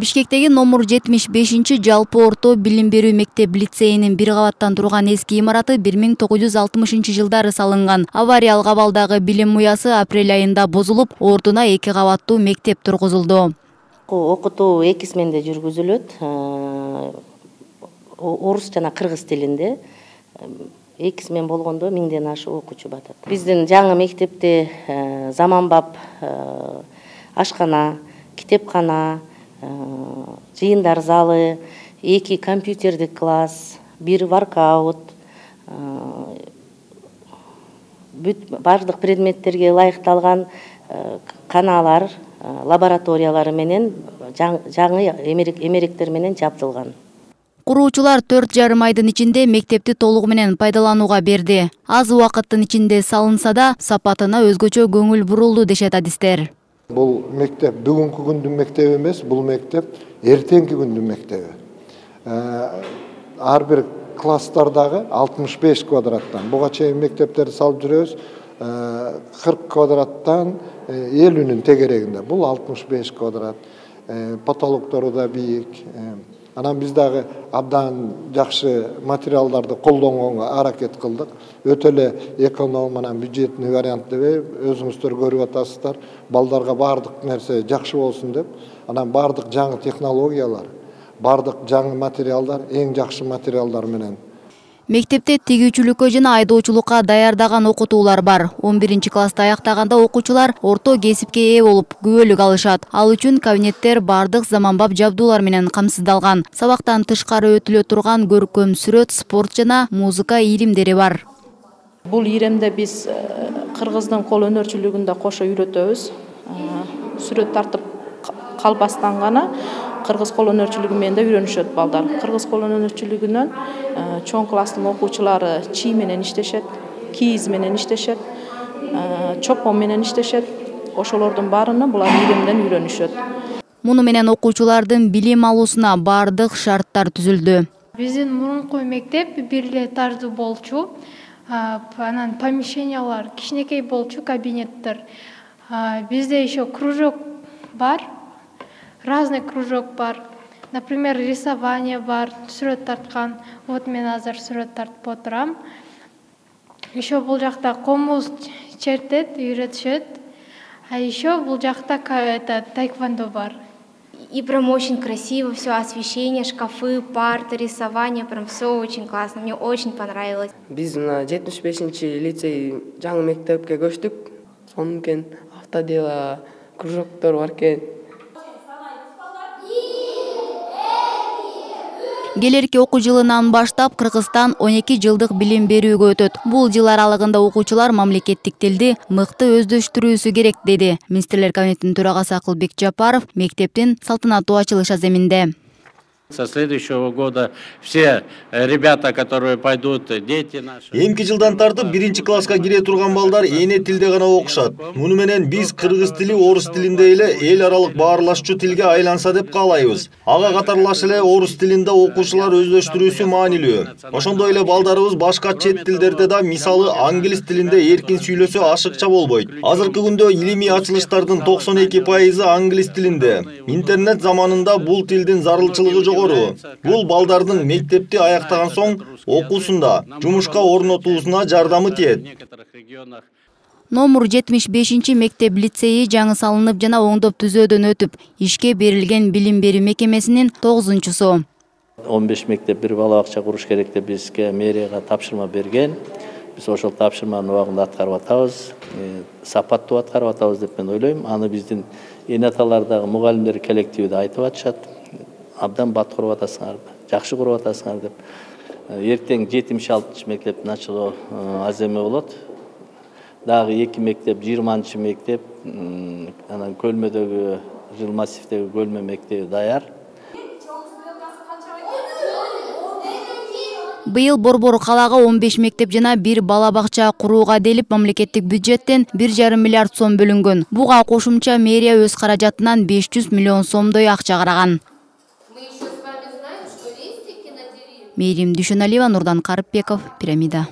Бишкектеги номер 75 жалпы орто билим берүү мектеп-лицейинин бир кабаттан турган эски имараты 1960 жылдары салынган. Авариялык абалдагы билим уясы апрель айында бузулуп, ордуна 2 кабаттуу мектеп тургузулду. Окутуу эки сменде жүргүзүлөт. Орус жана кыргыз тилинде. Эки смен болгондо 1000ден ашык окуучу батат. Биздин жаңы мектепте заманбап ашкана, китепкана, жыйындар залы, 2 компьютердик класс, 1 воркаут, бардык предметтерге ылайыкталган каналар, лабораториялары менен жаңы эмеректер менен жабдылган. Куруучулар 4,5 айдын ичинде мектепти толугу менен пайдаланууга берди. Аз убакыттын ичинде салынса да, сапатына өзгөчө көңүл бурулду дешет адистер. Бул мектеп бүгүнкү күндүн мектеби эмес, бул мектеп эртеңки күндүн мектеби. Ар бир класстардагы 65 квадраттан, буга чейин мектептерди салып жүрөбүз, 40 квадраттан 50'нин тегерегинде. Бул 65 квадрат. Потолоктору да бийик. Анан биз дагы абдан жакшы материалдарды колдонгонго аракет кылдык. Өтө эле эконом менен бюджетный вариант деп өзүңүздөр көрүп атасыздар. Балдарга бардык нерсе жакшы болсун деп, анан бардык жаңы технологиялар, бардык жаңы материалдар, эң жакшы материалдар менен. Мектепте тигүүчүлүккө жана айдоочулукка даярдаган окутуулар бар. 11-класста аяктаганда окуучулар орто кесипке ээ болуп, күбөлүк алышат. Ал үчүн кабинеттер бардык заманбап жабдуулар менен камсыздалган. Сабактан тышкары өтүлө турган көркөм сүрөт, спорт жана музыка иримдери бар. Бул иремде биз кыргыздын кол өнөрчүлүгүн да кошо үйрөтөбүз. Сүрөт тартып калбастан гана кыргыз кол өнөрчүлүгү менен да үйрөнүшөт балдар. Кыргыз кол өнөрчүлүгүнөн чоң класстын окуучулары чий менен иштешет, кийиз менен иштешет, чопон менен иштешет. Ошолордун баарына булар иремден үйрөнүшөт. Муну менен окуучулардын билим алуусуна бардык шарттар түзүлдү. Биздин мурунку мектеп бир эле тардуу болчу. Анан помещениялар кичинекей болчу, кабинеттер. Бизде еще кружок бар. Разный кружок бар. Например, рисование бар, сүрөт тарткан. Вот мен азыр сүрөт тартып отурам. Еще бул жакта комуз чертет, үйрөтүшөт. А еще бул жакта тайквондо бар. И прям очень красиво все, освещение, шкафы, парты, рисование, прям все очень классно. Мне очень понравилось. Биз на 75-чи лицей жаңы мектепке көчтүк. Сонун экен, автодело, кружоктор бар экен. Келерки окуу жылынан баштап Кыргызстан 12 жылдык билим берүүгө өтөт. Бул жыл аралыгында окуучулар мамлекеттик тилди мыкты өздөштүрүүсү керек, деди Министрлер кабинетинин төрагасы Акылбек Жапаров мектептин салтанаттуу ачылыш аземинде. Со следующего года все ребята, которые пойдут, дети наши. Эмки жылдан тартып 1-класска кире турган балдар эне тилде гана окушат. Муну менен биз кыргыз тили орус тилинде эле эл аралык баарлашчу тилге айланса деп каалайбыз. Ага катарлаш эле орус тилинде окуучулар өздөштүрүүсү маанилүү. Ошондой эле балдарыбыз башка чет тилдерде да, мисалы англис тилинде эркин сүйлөсө ашыкча болбойт. Азыркы күндө илимий ачылыштардын 92% англис тилинде. Интернет заманында бул тилдин зарылчылыгы жок. Бул балдардын мектепти аяктаган соң окуусунда, жумушка орнотуусуна жардамы тиет. Номер 75 мектеп-лицейи жаңы салынып жана оңдоп түзөөдөн өтүп, ишке берилген билим берүү мекемесинин 9-су. 15 мектеп бир бала бакча куруш керек деп бизге мэрияга тапшырма берген. Биз ошол тапшырманын убагында аткарып атабыз, сапаттуу аткарып атабыз деп мен ойлойм. Аны биздин эне аталардагы мугалимдер коллективи да айтып атышат. Абдан бат куруп атасыңар, жакшы куруп атасыңар деп. Эртең 76 мектептин ачылуу аземе болот. Дагы 2 мектеп, 20 мектеп, анан Көлмөдөгү, Жыл массивдеги Көлмө мектеби даяр. Быйыл Борбор калаага 15 мектеп жана 1 бала бакча курууга делип мамлекеттик бюджеттен 1,5 миллиард сом бөлүнгөн. Буга кошумча мэрия өз каражатынан 500 миллион сомдой акча караган. Мээрим Дүйшөналиева, Нурдан Карыпбеков, Пирамида.